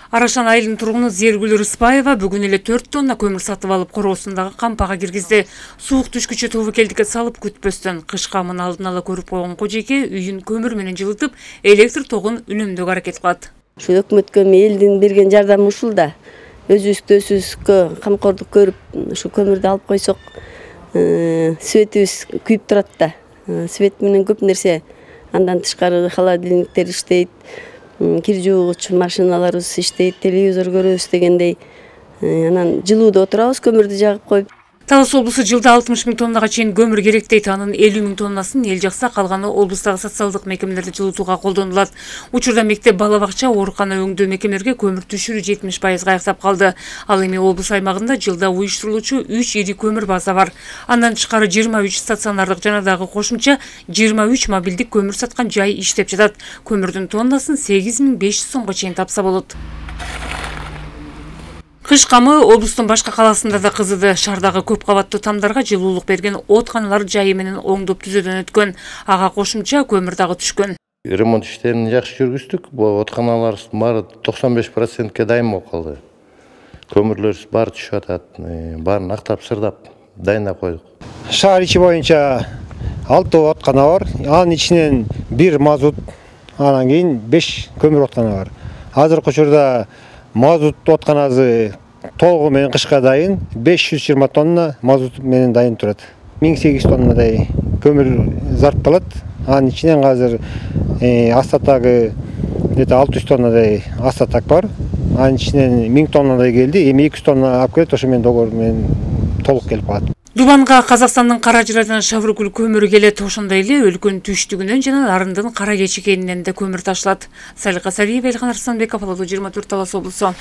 Арашан айылынын тургуну Зергүл Рыспаева бүгүн эле 4 тонна көмүр сатып алып короосундагы кампага киргизди. Суук түшкүчө тобокелдикке салып күтпөстөн кыш камын алдын ала көрүп койгон кожейке үйүн көмүр менен жылытып, электр тогун үнөмдөөгө аракет кылат. Ушу өкмөткө элдин берген жардамы ушул да. Өзүбүзгө камкордук көрүп ушу көмүрдү алып койсок, светибиз күйүп турат да. Свет менен көп нерсе, андан тышкары холодильниктер иштейт. Кир жуугуч машиналарыбыз иштейт, телевизор көрөбүз дегендей. Анан жылууда отурабыз, көмүрдү жагып коюп. Талас облусу жылда 60 000 тоннага чейин көмүр керек дейт. Анын 50 000 тоннасын эл жакса, калганы облустагы социалдык мекемелерди жылытууга колдонулат. Учурда мектеп, бала бакча, оорукана өңдөө мекемелерге көмүр түшүрүү 70% аяктап калды. Ал эми облус аймагында жылда уюштурулуучу 3 ири көмүр база бар. Андан тышкары 23 стационардык жана дагы кошумча 23 мобилдик көмүр саткан жай иштеп жатат. Көмүрдүн тоннасын 8500 сомго чейин тапса болот. Кыш камы облустун башка каласында да кызыды. Шаардагы көп кабаттуу тамдарга жылуулук берген оотканалар жайы менен оңдоп түзөөдөн өткөн. Ага кошумча көмүр дагы түшкөн. Ремонт иштерин жакшы жүргүздүк. Бул оотканаларыбыз баары 95%ке дайын болуп калды. Көмүрлөрүбүз баары түшүп атат. Баарын актап сырдап дайындап койдук. Шаар ичи боюнча 6 ооткана бар. Анын ичинен 1 мазут, анан кийин 5 көмүр ооткана бар. Азыркы учурда мазут оотканасы толугу менен кышка дайын, 520 тонна мазут менен дайын турат. 1800 тоннадай көмүр зартталат. Анын ичинен азыр астатагы 600 тоннадай астатак бар. Анын ичинен 1000 тоннадай келди. Эми 200 тонна алып келет, ошо менен договор менен толук келип калат. Дубанга Казакстандын Каражырайдан Шаврыкүл көмүрү келет. Ошондой эле өлкөнүн түштүгүнөн жана Нарындын Кара Кечикенинен да көмүр ташылат. Салика Сариева, Элхан Арсланбеков, 24 Талас облусу.